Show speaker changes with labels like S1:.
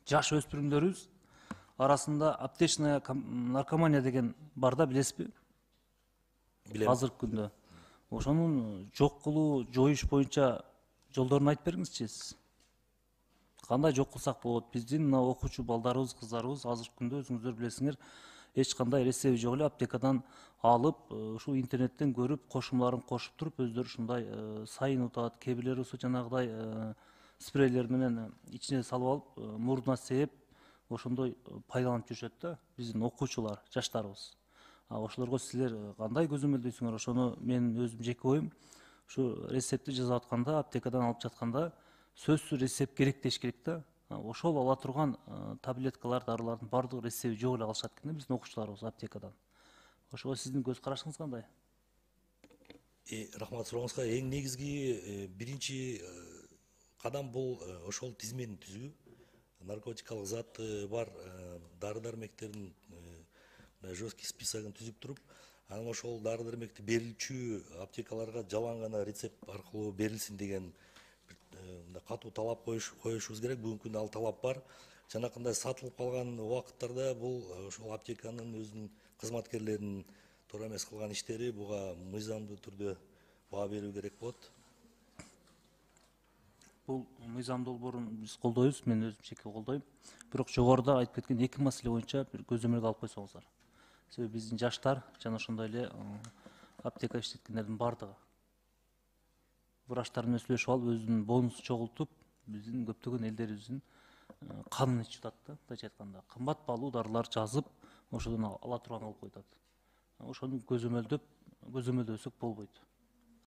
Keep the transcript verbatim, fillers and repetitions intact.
S1: жаш өспүрүмдөрүбүз арасында аптечная наркомания деген бар да, билесизби?
S2: Билем.
S1: Азыркы күндө. Ошонун жок кылуу, жоюш боюнча жолдорун айтып бергиңизчи сиз. Кандай жок кылсак болот? Биздин мына окуучу балдарыбыз, кыздарыбыз азыркы күндө өзүңүздөр билесиңер, эч кандай рецепти жок эле аптекадан алып, ушул интернеттен көрүп, кошумдарын кошуп туруп, өздөрү ушундай сайынутат, кээ бирлери болсо жанагыдай спрейлер менен ичине салып алып, мурдуна сээп, ошондой пайдаланып жүрүшөт да, биздин окуучулар, жаштарыбыз. Ошолорго силер кандай көзөмөлдөйсүңөр? Ошону менин өзүм жеке оюм, ушу рецептти жасап атканда, аптекадан алып жатканда сөзсүз рецепт керек деш керек да. Ошол ала турган таблеткалар, дарылардын баардыгы рецепти жок эле алышат экен да биздин окуучуларыбыз аптекадан. Ошого сиздин көз карашыңыз кандай?
S2: Рахмат сурооңузга. Эң негизги биринчи кадам бул ошол тизмени түзүү. Наркотикалык заты бар дары дармектердин жесткий списогун түзүп туруп, анан ошол дары дармекти берүүчү аптекаларга жалаң гана рецепт аркылуу берилсин деген катуу талап коюшубуз керек. Бүгүнкү күндө ал талап бар. Жанакындай сатылып калган убакыттарда бул ошол аптеканын өзүнүн кызматкерлеринин туура эмес кылган иштери, буга мыйзамдуу түрдө баа берүү керек болот.
S1: Бул мыйзамдуу долбоорун биз колдойбуз, мен өзүм жеке колдойм. Бирок жогоруда айтып кеткен эки маселе боюнча бир көзөмөлгө алып койсоңуздар. Себеби биздин жаштар жана ошондой эле аптека иштеткендердин баардыгы врачтар менен сүйлөшүп алып, өзүнүн бонусун чогултуп, биздин көптөгөн элдерибиздин канын ичип атат да, мындайча айтканда. Кымбат баалуу дарылар жазып, ошодон ала турган кылып коюп атат. Ошону көзөмөлдөп, көзөмөлдөсөк болбойт.